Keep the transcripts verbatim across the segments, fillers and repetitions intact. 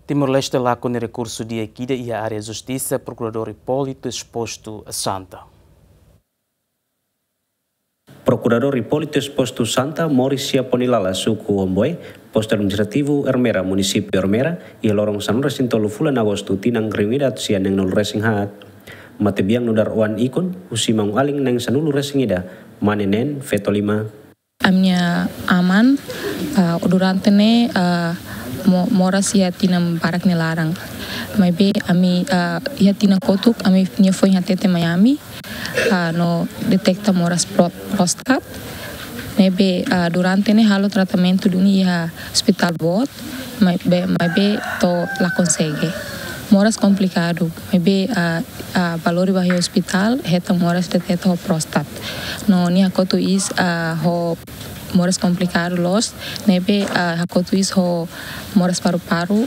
Timor-Leste lakon rekursu di'ak ida iha área justisa, Prokuradór Hipólito Exposto Santa. Prokuradór Hipólito Exposto Santa moris iha Ponilala, suku Omboe, postu administrativu Ermera, munisípiu Ermera, iha loron sanulu-resin-tolu fulan Agostu, tinan rihun ida atus sia neenulu-resin-haat. Matebian nu'udar oan ikun, husi maun-alin na'in sanulu-resin-ida, mane neen, feto lima. Ami-nia aman, ah, durante ne'e, ah, mo-, moras iha tinan barak nia laran. Maibé ami, ah, iha tinan kotuk, ami-nia foin hatete mai ami, ah, no deteta moras pro-, prostat. Ne'ebé, ah, durante ne'e halo tratamentu duni iha ospitál boot, maibé, maibé to'o la konsege. Moras komplikadu, maibé, ah, ah, bá lori ba iha ospitál, hetan moras deteta ho prostat. No nia hakotu iis, ah, ho moras komplikadu loos, ne'ebé, ah, hakotu iis ho moras paru-paru,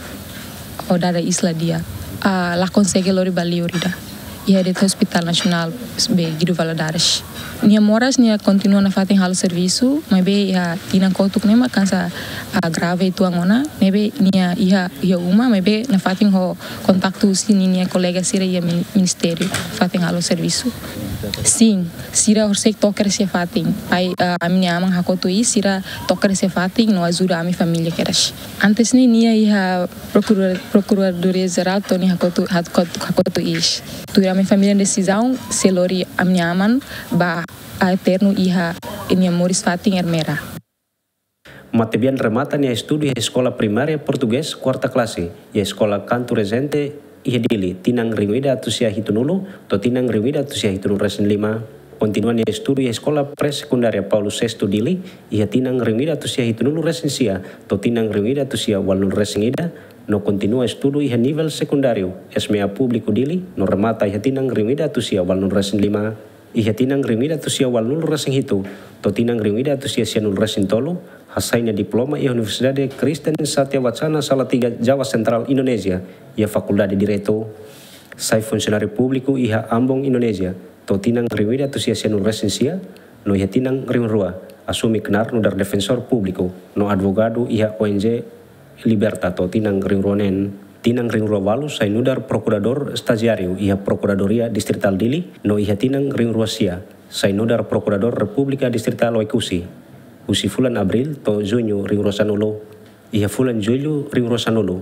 ho dada iis la di'ak. Ah, la konsege lori ba liur ida. Iha de'it Hospital Nasionál be Guido Valadares. Nia moras, nia kontinua nafatin halo servisu, maibé iha tinan kotuk ne'e mak hanesan, ah, grave uitoan ona, ne'ebé nia iha, iha uma, maibé nafatin ho kontaktu husi ninia kolega sira iha min-, ministériu, nafatin halo servisu. Sin, sira horiseik to'o kedas iha fatin. Pai, ah, ami-nia aman hakotu iis, sira to'o kedas iha fatin, no ajuda ami família kedas. Antes ne'e nia iha Prokurador-, Prokuradoria Jerál to'o nia hakotu, hakotu, hakotu iis. Tuir ami família desizaun, sei lori ami-nia aman ba eternu iha nia moris fatin Ermera. Matebian remata nia estudu iha eskola primária portugés kuarta klase, iha eskola Canto Regente, iha Dili, tinan rihun ida atus sia hitunulu, to'o tinan rihun ida atus sia hitunulu-resin-lima. Kontinua nia estudu iha eskola pré-sekundária Paulo Sexto Dili, iha tinan rihun ida atus sia hitunulu-resin-sia, to'o tinan rihun ida atus sia ualunulu-resin-ida, no kontinua estudu iha nivel sekundáriu, SMA Públiku Dili, no remata iha tinan rihun ida atus sia ualunulu-resin-lima. Iha tinan rihun ida atus sia ualunulu-resin-hitu, to'o tinan rihun ida atus sia sianulu-resin-tolu, hasai nia diploma iha Universidade Kristen Satya Wacana Salatiga, Java Sentrál, Indonézia, iha Fakuldade Direitu. Sai funsionáriu públiku iha Ambon, Indonézia, to'o tinan rihun ida atus sia sianulu-resin-sia, no iha tinan rihun rua, asume knaar nu'udar defensór públiku, no advogadu iha ONG Liberta to'o tinan rihun rua neen. Tinan rihun rua ualu sai nu'udar prokuradór estajiáriu iha Prokuradoria Distritál Dili, no iha tinan rihun rua sia sai nu'udar Prokuradór Repúblika Distritál Oekusi, husi fulan Abríl to'o Juñu rihun rua sanulu. Iha fulan Jullu rihun rua sanulu,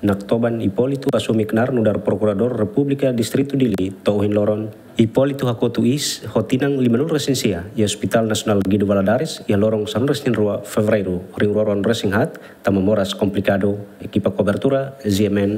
Naktoban Hipólito asume knaar nu'udar Prokuradór Repúblika Distritu Dili to'o ohin loron. Hipólito hakotu iis ho tinan limanulu-resin-sia iha Hospital Nasionál Guido Valadares iha loron sanulu-resin-rua Fevereiru rihun rua ruanulu-resin-haat, tanba moras komplikadu. Ekipa kobertura, G M N.